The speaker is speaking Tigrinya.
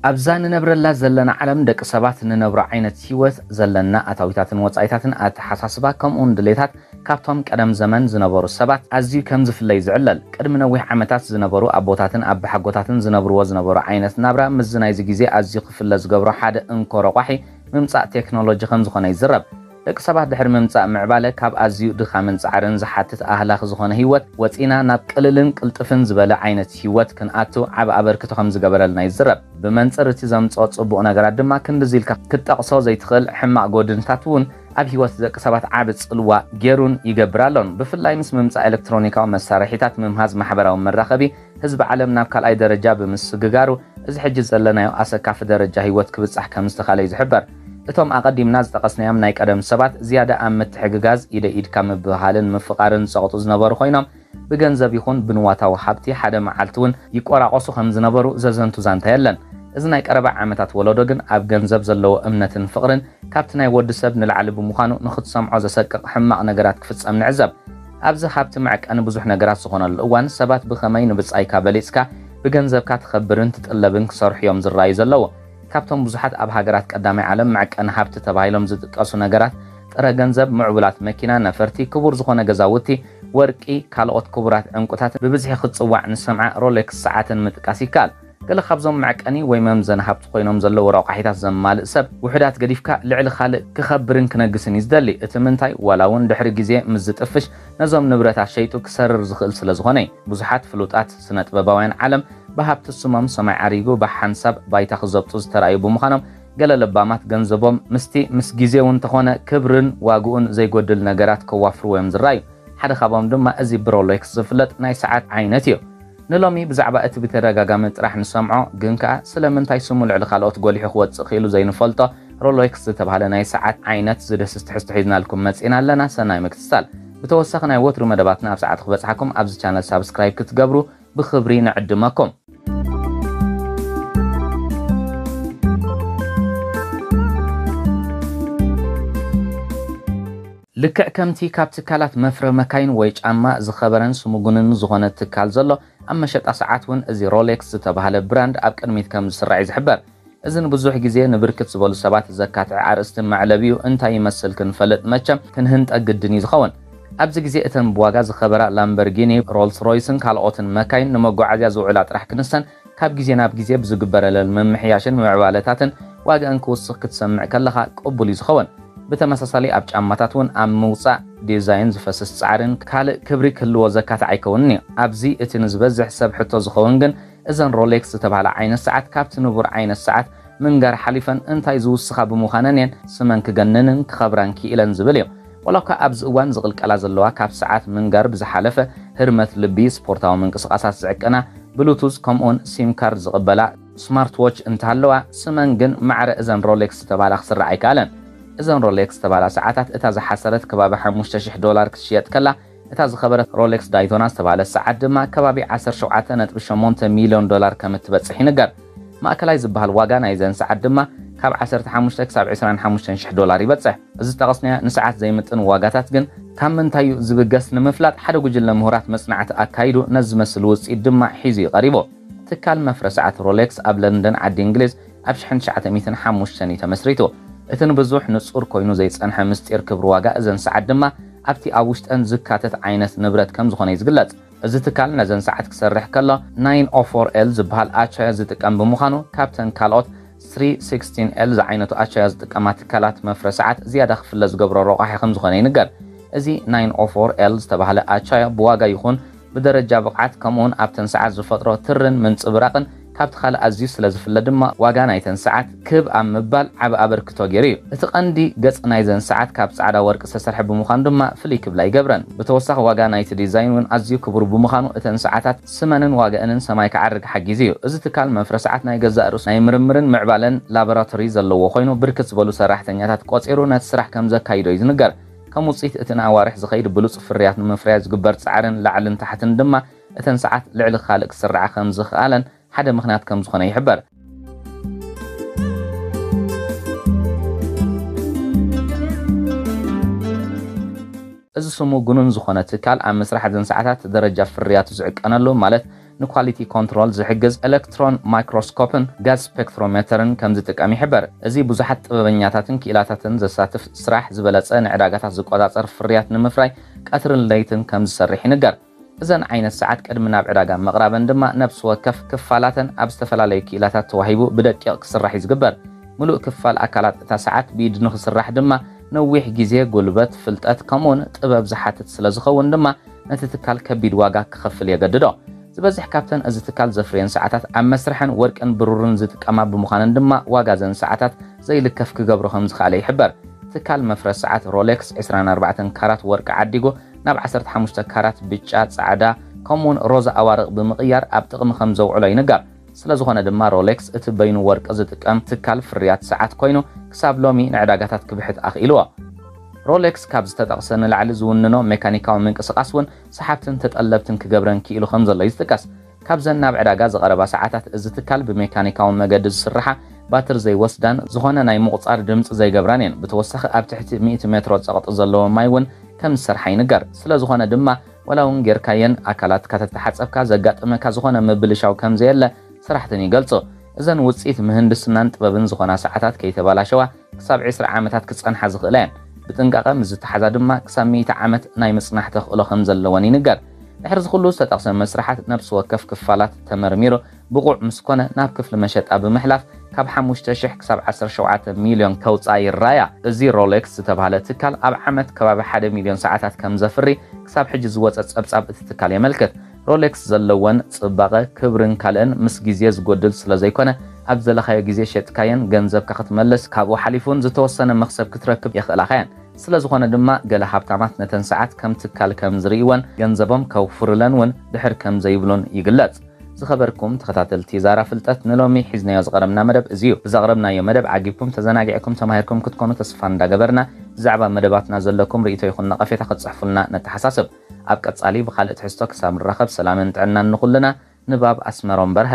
ኣብዛ ንነብረላ ዘለና ዓለም ደቂ ሰባት ንነብሮ ዓይነት ህይወት ዘለና ኣታዊታትን ወጻኢታትን ኣተሓሳስባ ከምኡውን ድሌታት ካብቶም ቀደም ዘመን ዝነበሩ ሰባት ኣዝዩ ከም ዝፍለይ ዝዕለል። ቅድሚ ነዊሕ ዓመታት ዝነበሩ ኣቦታትን ኣባሓጎታትን ዝነብርዎ ዝነበሩ ዓይነት ናብራ ምስዚ ናይዚ ግዜ ኣዝዩ ክፍለ ዝገብሮ ሓደ እንኮ ረቋሒ ምምጻእ ቴክኖሎጂ ከም ዝኾነ ይዝረብ። ደቂ ሰባት ድሕሪ ምምጻእ ምዕባለ ካብ ኣዝዩ ድኻምን ጻዕርን ዝሓትት ኣህላኺ ዝኾነ ህይወት ወጺና ናብ ቅልልን ቅልጥፍን ዝበለ ዓይነት ህይወት ክንኣቱ ዓቢ ኣበርክቶ ከም ዝገበረልና ይዝረብ። ብመንጽር እቲ ዘምጽኦ ጽቡቕ ነገራት ድማ ክንድዚ ኢልካ ክትጠቕሶ ዘይትኽእል ሕማቕ ጎድንታት እውን ኣብ ህይወት ደቂ ሰባት ዓቢ ጽልዋ ገይሩን ይገብር ኣሎን። ብፍላይ ምስ ምምጻእ ኤሌክትሮኒካዊ መሳርሒታት ምምሃዝ ማሕበራዊ መራኸቢ ህዝቢ ዓለም ናብ ካልኣይ ደረጃ ብምስግጋሩ፣ እዚ ሕጂ ዘለናዮ ኣሰካፊ ደረጃ ህይወት ክብጻሕ ከም ዝተኻለ እዩ ዝሕበር። እቶም ኣቐዲምና ዝጠቐስናዮም ናይ ቀደም ሰባት ዝያዳ ኣብ ምትሕግጋዝ፣ ኢደ ኢድካ ምብህሃልን ምፍቓርን ዝጸቕጡ ዝነበሩ ኮይኖም፣ ብገንዘብ ይኹን ብንዋታዊ ሃብቲ ሓደ መዓልቲ እውን ይቆራቆሱ ከም ዝነበሩ ዘዘንቱ ዛንታ የለን። እዚ ናይ ቀረባ ዓመታት ወለዶ ግን ኣብ ገንዘብ ዘለዎ እምነትን ፍቕርን ካብቲ ናይ ወዲ ሰብ ንላዕሊ ብምዃኑ ንኽትሰምዖ ዘሰቅቕ ሕማቕ ነገራት ክፍጸም ንዕዘብ። ኣብዚ ሃብቲ መዕቀኒ ብዙሕ ነገራት ዝኾነሉ እዋን ሰባት ብኸመይ ንብጻይካ በሊጽካ ብገንዘብካ ትኸብርን ትጥለብን ክሰርሑ እዮም ዝረኣዩ ዘለዉ። ካብቶም ብዙሓት ኣብ ሃገራት ቀዳማይ ዓለም መዕቀኒ ሃብቲ ተባሂሎም ዝጥቀሱ ነገራት ጥረ ገንዘብ፣ ምዕቡላት መኪና፣ ነፈርቲ፣ ክቡር ዝኾነ ገዛውቲ፣ ወርቂ፣ ካልኦት ክቡራት ዕንቁታት ብብዝሒ ክትጽዋዕ ንሰምዓ ሮሌክስ ሰዓትን ምጥቃስ ይከኣል። ገለ ካብዞም መዕቀኒ ወይ መምዘኒ ሃብቲ ኮይኖም ዘለዉ ረቋሒታት ዘማልእ ሰብ ውሑዳት ገዲፍካ ልዕሊ ካልእ ክኸብርን ክነግስን እዩ ዝደሊ። እቲ ምንታይ ዋላ እውን ድሕሪ ግዜ ምስ ዝጥፍሽ ነዞም ንብረታት ሸይጡ ክሰርር ዝኽእል ስለ ዝኾነ እዩ። ብዙሓት ፍሉጣት ስነ ጥበባውያን ዓለም ብሃብቲ ስሞም ሰማይ ዓሪጉ ብሓንሳብ ባይታ ክዘብጡ ዝተራእዩ ብምዃኖም ገለ ለባማት ገንዘቦም ምስቲ ምስ ግዜ እውን እንተኾነ ክብርን ዋግኡን ዘይጎድል ነገራት ከዋፍርዎ እዮም ዝረኣዩ። ሓደ ካብኦም ድማ እዚ ብሮሌክስ ዝፍለጥ ናይ ሰዓት ዓይነት እዩ። ንሎሚ ብዛዕባ እቲ ብተደጋጋሚ ጥራሕ ንሰምዖ ግን ከኣ ስለምንታይ ስሙ ልዕሊ ካልኦት ጎሊሑ ክወጽእ ክኢሉ ዘይንፈልጦ ሮሌክስ ዝተባህለ ናይ ሰዓት ዓይነት ዝድህስስ ትሕዝቶ ሒዝናልኩም መጺእና ኣለና። ሰናይ ምክትታል። ብተወሳኺ ናይ ወትሩ መደባትና ኣብ ሰዓት ክበጽሓኩም ኣብዚ ቻነል ሳብስክራይብ ክትገብሩ ብኽብሪ ንዕድመኩም። ልክዕ ከምቲ ካብ ትካላት መፍረ መካይን ወይ ጫማ ዝኸበረን ስሙጉንን ዝኾነ ትካል ዘሎ፣ ኣብ መሸጣ ሰዓት እውን እዚ ሮሌክስ ዝተባህለ ብራንድ ኣብ ቅድሚት ከም ዝስራዕ እዩ ዝሕበር። እዚ ንብዙሕ ግዜ ንብርክት ዝበሉ ሰባት ዘካትዐ ኣርእስቲ መዕለቢኡ እንታይ ይመስል ክንፈልጥ መቸም ክንህንጠ ግድን እዩ ዝኸውን። ኣብዚ ግዜ እተን ብዋጋ ዝኸበራ ላምበርጊኒ፣ ሮልስ ሮይስን ካልኦትን መካይን ንመጓዓዝያ ዝውዕላ ጥራሕ ክንሰን ካብ ግዜ ናብ ግዜ ብዝግበረለን ምምሕያሽን ምዕባለታትን ዋጋኣን ክውስኽ ክትሰምዕ ከለኻ ቅቡል እዩ ዝኸውን። ብተመሳሳሊ ኣብ ጫማታት እውን ኣብ ምውጻእ ዲዛይን ዝፈስስ ጻዕርን ካልእ ክብሪ ክህልዎ ዘካትዕ ኣይከውንን እዩ። ኣብዚ እቲ ንዝበዝሕ ሰብ ሕቶ ዝኸውን ግን እዘን ሮሌክስ ዝተባህላ ዓይነት ሰዓት ካብቲ ንቡር ዓይነት ሰዓት ምንጋር ሓሊፈን እንታይ ዝውስኻ ብምዃነን እየን ስመን ክገንንን ክኸብራን ክኢለን ዝብል እዩ። ዋላ እኳ ኣብዚ እዋን ዝቕልቀላ ዘለዋ ካብ ሰዓት ምንጋር ብዝሓለፈ ህርመት ልቢ፣ ስፖርታዊ ምንቅስቓሳት ዝዕቅና፣ ብሉቱዝ ከምኡውን ሲም ካርድ ዝቕበላ ስማርት ዎች እንተሃለዋ፣ ስመን ግን ማዕረ እዘን ሮሌክስ ዝተባህላ ክስራዕ ኣይከኣለን። እዘን ሮሌክስ ዝተባህላ ሰዓታት እታ ዝሓሰረት ከባቢ ሓሙሽተ ሽሕ ዶላር ክትሽየጥ ከላ፣ እታ ዝኸበረት ሮሌክስ ዳይቶና ዝተባህለት ሰዓት ድማ ከባቢ ዓሰርተ ሸውዓተ ነጥቢ ሸሞንተ ሚልዮን ዶላር ከም እትበጽሕ ይንገር። ማእከላይ ዝበሃል ዋጋ ናይዘን ሰዓት ድማ ካብ ዓሰርተ ሓሙሽተ ክሳብ ዕስራን ሓሙሽተን ሽሕ ዶላር ይበጽሕ። እዚ ዝጠቐስናዮ ንሰዓት ዘይምጥን ዋጋታት ግን ካብ ምንታይ እዩ ዝብገስ ንምፍላጥ ሓደ ጉጅለ ምሁራት መጽናዕቲ ኣካይዱ ነዚ ዝመስል ውጽኢት ድማ ሒዙ እዩ ቀሪቡ። ትካል መፍረ ሰዓት ሮሌክስ ኣብ ለንደን ዓዲ እንግሊዝ ኣብ ሽሕን ትሽዓተ ሚእትን ሓሙሽተን እዩ ተመስሪቱ። እቲ ንብዙሕ ንጹር ኮይኑ ዘይጸንሐ ምስጢር ክብሪ ዋጋ እዘን ሰዓት ድማ ኣብቲ ኣብ ውሽጠን ዝካተት ዓይነት ንብረት ከም ዝኾነ እዩ ዝግለጽ። እዚ ትካል ነዘን ሰዓት ክሰርሕ ከሎ ናይን ኦ ፎር ኤል ዝበሃል ኣቻዮ ዝጥቀም ብምዃኑ ካብተን ካልኦት ስሪ ሲክስቲን ኤል ዝዓይነቱ ኣቻዮ ዝጥቀማ ትካላት መፍረ ሰዓት ዝያዳ ክፍለ ዝገብሮ ረቋሒ ከም ዝኾነ ይንገር። እዚ ናይን ኦ ፎር ኤል ዝተባህለ ኣቻዮ ብዋጋ ይኹን ብደረጃ ብቕዓት ከምኡውን ኣብተን ሰዓት ዝፈጥሮ ትርን ምንጽብራቕን ካብቲ ካልእ ኣዝዩ ስለ ዝፍለ ድማ ዋጋ ናይተን ሰዓት ክብ ኣብ ምባል ዓቢ ኣበርክቶ ገይሩ እዩ። እቲ ቀንዲ ገጽ ናይዘን ሰዓት ካብ ጻዕዳ ወርቂ ዝተሰርሐ ብምዃኑ ድማ ፍልይ ክብላ ይገብረን። ብተወሳኺ ዋጋ ናይቲ ዲዛይን እውን ኣዝዩ ክቡር ብምዃኑ እተን ሰዓታት ስመንን ዋጋእንን ሰማይ ክዓርግ ሓጊዙ እዩ። እዚ ትካል መፍረ ሰዓት ናይ ገዛእ ርእሱ ናይ ምርምርን ምዕባለን ላቦራቶሪ ዘለዎ ኮይኑ ብርክት ዝበሉ ሰራሕተኛታት ቆጺሩ ነቲ ስራሕ ከም ዘካይዶ እዩ ዝንገር። ከም ውጽኢት እቲ ንኣዋርሕ ዝኸይድ ብሉጽ ፍርያት ንምፍራይ ዝግበር ጻዕርን ላዕልን ታሕትን ድማ እተን ሰዓት ልዕሊ ካልእ ክስርዓ ከም ዝኽኣለን ሓደ ምኽንያት ከም ዝኾነ ይሕበር። እዚ ስሙ ግኑን ዝኾነ ትካል ኣብ ምስራሕ እዘን ሰዓታት ደረጃ ፍርያቱ ዝዕቀነሉ ማለት ንኳሊቲ ኮንትሮል ዝሕግዝ ኤሌክትሮን ማይክሮስኮፕን ጋዝ ስፔክትሮሜተርን ከም ዝጥቀም ይሕበር። እዚ ብዙሓት ጥበበኛታትን ክኢላታትን ዘሳትፍ ስራሕ፣ ዝበለጸ ንዕዳጋታት ዝቆጻጸር ፍርያት ንምፍራይ ቀትርን ለይትን ከም ዝሰርሕ ይንገር። እዘን ዓይነት ሰዓት ቅድሚ ናብ ዕዳጋ ምቕራበን ድማ ነብሲ ወከፍ ክፋላተን ኣብ ዝተፈላለዩ ክኢላታት ተዋሂቡ ብደቂቕ ክስራሕ እዩ ዝግበር። ምሉእ ክፋል ኣካላት እታ ሰዓት ብኢድ ንኽስራሕ ድማ ነዊሕ ግዜ፣ ጉልበት፣ ፍልጠት ከምኡውን ጥበብ ዝሓትት ስለ ዝኸውን ድማ ነቲ ትካል ከቢድ ዋጋ ክኸፍል የገድዶ። ዝበዝሕ ካብተን እዚ ትካል ዘፍርየን ሰዓታት ኣብ መስርሐን ወርቅን ብሩርን ዝጥቀማ ብምዃነን ድማ ዋጋ ዘን ሰዓታት ዘይልከፍ ክገብሮ ከም ዝኸኣለ ይሕበር። ትካል መፍረስ ሰዓት ሮሌክስ ዕስራን ኣርባዕተን ካራት ወርቂ ዓዲጉ ናብ ዓሰርተ ሓሙሽተ ካራት ብጫ፣ ጻዕዳ ከምኡውን ሮዛ ኣዋርቕ ብምቕያር ኣብ ጥቕሚ ከም ዘውዕሎ ይንገር። ስለ ዝኾነ ድማ ሮሌክስ እቲ በይኑ ወርቂ ዝጥቀም ትካል ፍርያት ሰዓት ኮይኑ ክሳብ ሎሚ ንዕዳጋታት ክብሕት ኣኽኢልዎ። ሮሌክስ ካብ ዝተጠቕሰ ንላዕሊ ዝውንኖ ሜካኒካዊ ምንቅስቓስ እውን ሰሓብትን ተጠለብትን ክገብረን ክኢሉ ከም ዘሎ እዩ ዝጥቀስ። ካብዘን ናብ ዕዳጋ ዝቐረባ ሰዓታት እዚ ትካል ብሜካኒካዊ መገዲ ዝስርሓ ባትር ዘይወስዳን ዝኾነ ናይ ምቑጻር ድምጺ ዘይገብራን እየን። ብተወሳኺ ኣብ ትሕቲ ሚእቲ ሜትሮ ጸቕጢ ዘለዎ ማይ እውን ከም ዝሰርሓ ይንገር። ስለ ዝኾነ ድማ ዋላ እውን ጌርካየን ኣካላትካ ተተሓጸብካ ዘጋጥመካ ዝኾነ ምብልሻው ከም ዘየለ ሰራሕተን ይገልጹ። እዘን ውጽኢት ምህንድስናን ጥበብን ዝኾና ሰዓታት ከይተባላሸዋ ክሳብ ዕስራ ዓመታት ክጸንሓ ዝኽእላ እየን። ብጥንቃቐ ምስ ዝተሓዛ ድማ ክሳብ ሚእቲ ዓመት ናይ ምጽናሕ ተኽእሎ ከም ዘለወን ይንገር። ድሕሪ እዚ ኩሉ ዝተጠቕሰ መስርሓት ነብሲ ወከፍ ክፋላት ተመርሚሩ ብቑዕ ምስ ኮነ ናብ ክፍሊ መሸጣ ብምሕላፍ ካብ ሓሙሽተ ሽሕ ክሳብ ዓሰርተ ሸውዓተ ሚልዮን ከውጻ ይራያ። እዚ ሮሌክስ ዝተባህለ ትካል ኣብ ዓመት ከባቢ ሓደ ሚልዮን ሰዓታት ከም ዘፍሪ ክሳብ ሕጂ ዝወጸ ጸብጻብ እቲ ትካል የመልክት። ሮሌክስ ዘለወን ጽባቐ፣ ክብርን ካልእን ምስ ግዜ ዝጎድል ስለ ዘይኮነ ኣብ ዝደለኻዮ ግዜ ሸጥካየን ገንዘብካ ክትመልስ ካብኡ ሓሊፉን ዝተወሰነ መኽሰብ ክትረክብ የኽእላኻየን። ስለ ዝኾነ ድማ ገለ ሃብታማት ነተን ሰዓት ከም ትካል ከም ዝርእይወን ገንዘቦም ከውፍርለን እውን ድሕር ከም ዘይብሉን ይግለጽ። ዝኸበርኩም ተኸታተልቲ ዛራ ፍልጠት ንሎሚ ሒዝናዮ ዝቐረብና መደብ እዚ እዩ። ብዘቕረብናዮ መደብ ዓጊብኩም ተዘናጊዕኩም ተማሂርኩም ክትኮኑ ተስፋ እንዳገበርና ብዛዕባ መደባትና ዘለኩም ርእይቶ ይኹን ነቐፌታ ክትጽሕፉልና ነተሓሳስብ። ኣብ ቀጻሊ ብኻልእ ትሕዝቶ ክሳብ ንራኸብ ሰላምን ጥዕናን ንኹልና። ንባብ ኣስመሮም በርሀ።